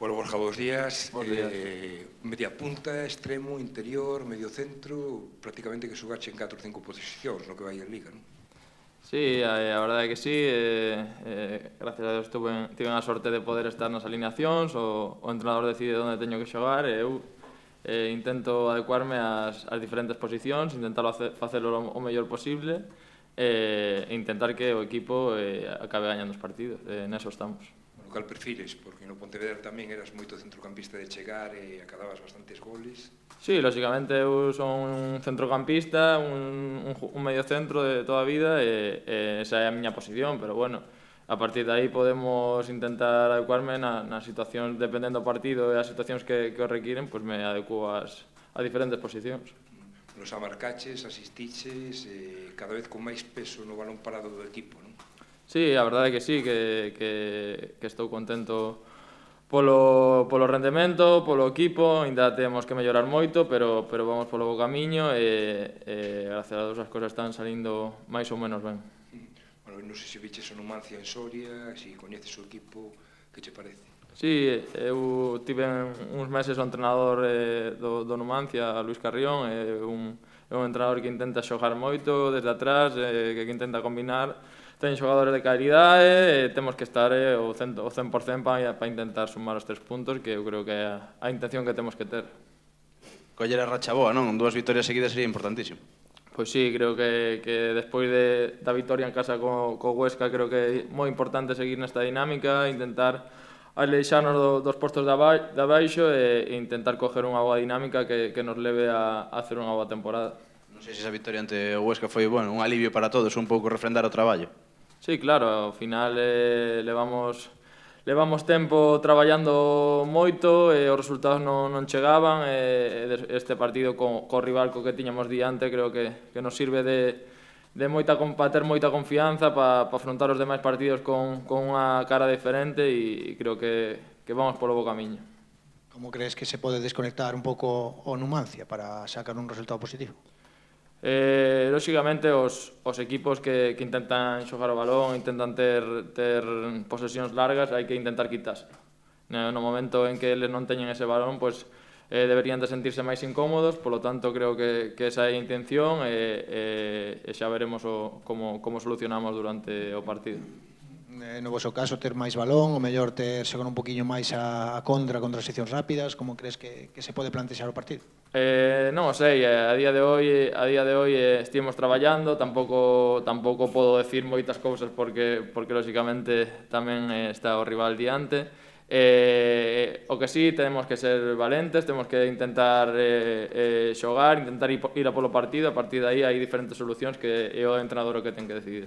Bueno, Borja, bons días. Bons días. Media punta, extremo, interior, medio centro, prácticamente que xogache en 4 ou 5 posicións no que vai en Liga, non? Sí, a verdade é que sí, gracias a Deus tive a sorte de poder estar nas alineacións, o entrenador decide onde teño que xogar e eu intento adecuarme ás diferentes posicións, intentar facelo o mellor posible e intentar que o equipo acabe gañando os partidos, neso estamos. Bueno, cal prefires? Porque no Pontevedra tamén eras moito centrocampista de chegar e acababas bastantes goles. Sí, lógicamente eu son un centrocampista, un medio centro de toda a vida e esa é a miña posición, pero bueno, a partir de aí podemos intentar adecuarme nas situacións, dependendo do partido e as situacións que o requiren, pois me adecuo a diferentes posicións. Nos amarcaches, asistiches, cada vez con máis peso no balón parado do equipo, non? Sí, a verdade é que sí, que estou contento polo rendemento, polo equipo, ainda temos que mellorar moito, pero vamos polo bo camiño e gracias a Deus as cousas están salindo máis ou menos ben. Bueno, non sei se viches o Numancia en Soria, se coñeces o equipo, que che parece? Sí, eu tive uns meses o entrenador do Numancia, Luis Carrión, é un entrenador que intenta xogar moito desde atrás, que intenta combinar. Ten xogadores de calidade e temos que estar o 100% para intentar sumar os 3 puntos, que eu creo que é a intención que temos que ter. Coller a racha boa, non? 2 vitorias seguidas sería importantísimo. Pois sí, creo que despois da vitoria en casa co Huesca, creo que é moi importante seguir nesta dinámica, intentar aleixarnos dos postos de abaixo e intentar coger unha boa dinámica que nos leve a hacer unha boa temporada. Non sei se esa victoria ante o Huesca foi, bueno, un alivio para todos, un pouco refrendar o traballo. Sí, claro, ao final levamos tempo traballando moito e os resultados non chegaban e este partido co rival co que tiñamos diante creo que nos sirve de para ter moita confianza para afrontar os demais partidos con unha cara diferente e creo que vamos polo bo camiño. Como crees que se pode desconectar un pouco o Numancia para sacar un resultado positivo? Lógicamente os equipos que intentan xogar o balón, intentan ter posesións largas, hai que intentar quitarse. No momento en que eles non teñen ese balón, pois deberían de sentirse máis incómodos, polo tanto creo que esa é a intención e xa veremos como solucionamos durante o partido. No vosso caso, ter máis balón, o mellor ter xogar un poquinho máis a contra transicións rápidas, como crees que se pode plantexar o partido? Non o sei, a día de hoy estivemos traballando, tampouco podo decir moitas cousas porque lógicamente tamén está o rival diante. O que sí, temos que ser valentes, temos que intentar xogar, intentar ir a polo partido, a partir de aí hai diferentes solucións que é o entrenador o que ten que decidir.